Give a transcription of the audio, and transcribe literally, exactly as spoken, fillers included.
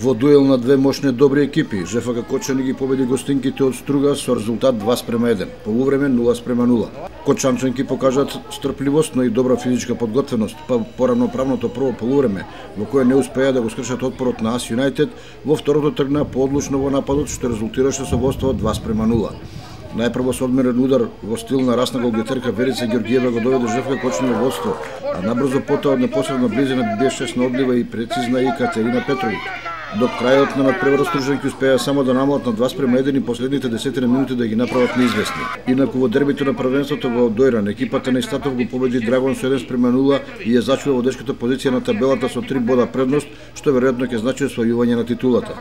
Во дуел на две мощни добри екипи, ЖФК Кочани ги победи гостинките од Струга со резултат два спрема еден, полувреме нула спрема нула. Кочанчанки покажат стрпливост, но и добра физичка подготвеност, па поравноправното прво полувреме, во кое не успеа да го скршат отпорот на Ас Юнајтед, во второто тргна поодлучно во нападот, што резултираше со водство два спрема нула. Најпрво со одмерен удар во стил на расна голгетерка Верица Георгиева го доведе ЖФК Кочани во водство, а набрзо потоа од непосредна близина беше снодлива и прецизна и Катерина Петровиќ. До крајот на надпреварот Стружанки успеа само да намалат на два спрема еден и последните десет минути да ги направат неизвестни. Инаку во дербито на првенството во Дојран, екипата на Истатов го победи Драгон со еден спрема нула и ја зачува водечката позиција на табелата со три бода предност, што веројатно ќе значи освојување на титулата.